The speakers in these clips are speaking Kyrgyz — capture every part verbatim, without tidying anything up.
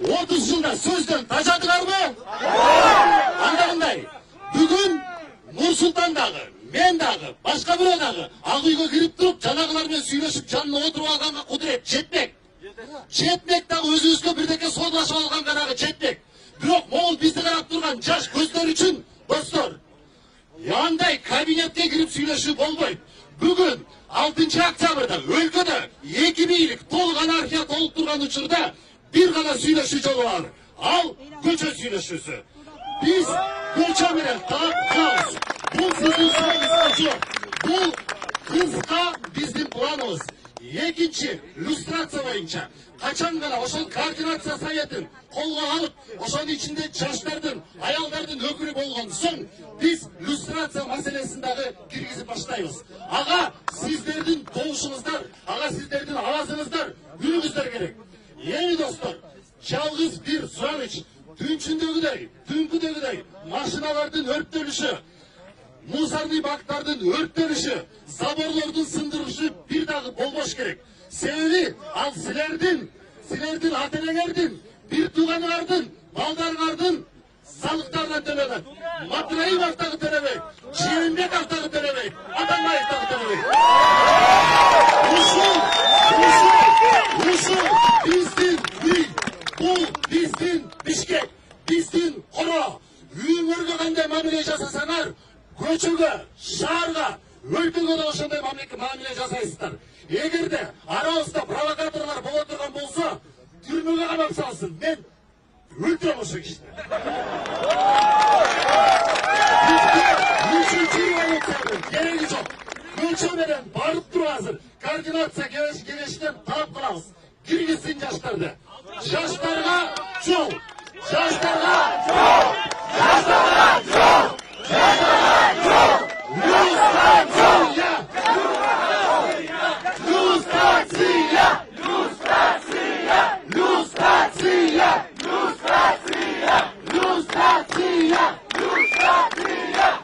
отуз жылда сөздөн тажадыңарбы? Анда кандай? Бүгүн Нурсултан дагы, мен дагы, башка бирөө дагы ак үйгө кирип туруп, жанагылар менен сүйлөшүп, жанына отуруп алганга кудурет жетмек. Жетмек дагы өзүбүзгө бирдеке соолашып алганга дагы жетмек. Бирок могул бизди карап турган жаш көздөр үчүн, достор, андай кабинетке кирип сүйлөшүү болбойт. Бүгүн алтынчы октябрда өлкөдө эки бийлик толук анархия толуп турган учурда бир гана сүйлөшүү жолу бар. Ал көчө сүйлөшүүсү. Биз көчө менен таап калабыз. Бул сиздин сурооңузга жок. Бул кыска биздин планыбыз. Экинчи люстрация боюнча качан гана ошол координация советин колго алып, ошонун ичинде жаштардын, аялдардын өкүлү болгон соң биз люстрация маселесин дагы киргизип баштайбыз. Ага сиздердин добушуңуздар, ага сиздердин авазыңыздар, үнүңүздөр керек. Эми достор, жалгыз бир сураныч, түнчүндөгүдөй, түнкүдөгүдөй машиналардын өрттөлүшү, мусорный бактардын өрттөлүшү, заборлордун сындырышы бир дагы болбош керек. Себеби ал силердин, силердин ата-энеңердин, бир тууганыңардын, балдарыңардын салыктарынан төлөнөт. Матраимов дагы төлөбөйт, Жээнбеков дагы төлөбөйт, Атамбаев дагы төлөбөйт. Ушул, ушул, ушул биздин үй, бул биздин Бишкек, биздин Коро. Үйүңөргө кандай мамиле жасасаңар, көчөгө, шаарга, өлкөгө да ошондой мамиле жасайсыздар. Эгерде арабызда провокаторлор боло турган болсо, түрмөгө камап салсын. Мен өлтүрөм ошол кишини. Үчүнчү революциянын кереги жок. Көчө менен барып туруп азыр координация кеңешинен талап кылабыз. Киргизсин жаштарды. Жаштарга жол. Жаштарга жол. Жаштарга жол. Жаштарга жол. Люстрация! Люстрация! Люстрация! Люстрация! Люстрация! Люстрация! Люстрация!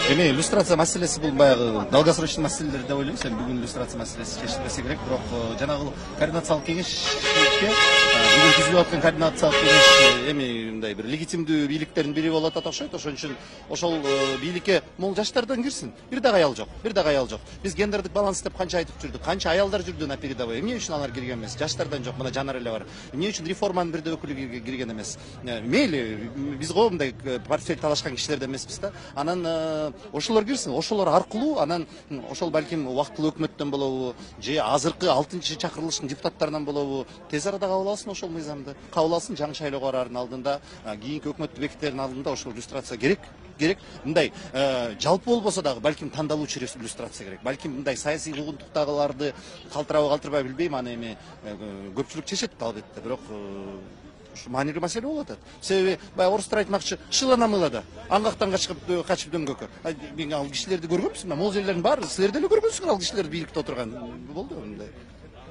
Эми иллюстрация маселеси бул баягы долгосрочный маселелер деп ойлойм. Сен бүгүн иллюстрация маселеси чечилбесе керек, бирок жанагы координациялык кеңешке бүгүн түзүлүп аткан координациялык кеңеш эми мындай бир легитимдүү бийликтердин бири болуп атат окшойт. Ошон үчүн ошол бийликке могул жаштардан кирсин. Бир дагы аял жок, бир дагы аял жок. Биз гендердик баланс деп канча айтып жүрдүк, канча аялдар жүрдү на передовой. Эмне үчүн алар кирген эмес? Жаштардан жок, мына Жанар эле бар. Эмне үчүн реформанын бир да өкүлү кирген эмес? Мейли, биз го мындай портфель талашкан кишилерден эмеспиз да. Анан ошолор кирсин, ошолор аркылуу анан ошол балким убактылуу өкмөттөн болобу, же азыркы алтынчы чакырылыштын депутаттарынан болобу, тез арада кабыл алсын ошол мыйзамды. Кабыл алсын, жаңы шайлоого бараардын алдында, кийинки өкмөттү бекитердин алдында ошол иллюстрация керек. Керек. Мындай жалпы болбосо дагы балким тандалуучу иллюстрация керек. Балким мындай саясий куугунтуктагыларды калтырабы калтырбай билбейм, аны эми көпчүлүк чечет албетте, бирок маанилүү маселе болуп атат. Себеби баягы орустар айтмакчы, шыла намылада, аңгактан качып качып дөңгөккө. Мен ал кишилерди көргөмсүң, могул жерлердин баары силер деле көргөнсүңөр ал кишилерди бийликте отурган. Болду мындай.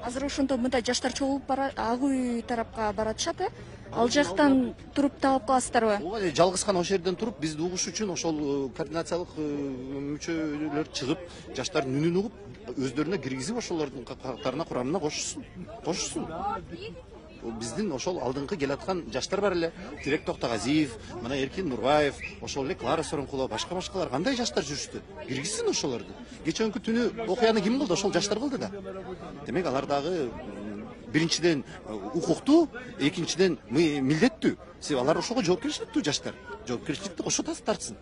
Азыр ошондо мындай жаштар чогулуп бара, ак үй тарапка баратышат, э? Ал жактан туруп таап каласыздарбы? Ооба, жалгыз гана ошол жерден туруп бизди угуш үчүн ошол координациялык мүчөлөр чыгып, жаштардын үнүн угуп, өздөрүнө киргизип ошолордун катарына, курамына кошушсун. Кошушсун. Биздин ошол алдыңкы келаткан жаштар бар эле, Тирек Токтогазиев, мына Эркин Нурбаев, ошол эле Клара Соронкулова, башка-башкалар кандай жаштар жүрүштү? Киргизсин ошолорду. Кечээнкү түнү окуяны ким кылды? Ошол жаштар кылды да. Демек алар дагы биринчиден укуктуу, экинчиден милдеттүү. Себеби алар ошого жоопкерчиликтүү жаштар. Жоопкерчиликти ошо тартсын.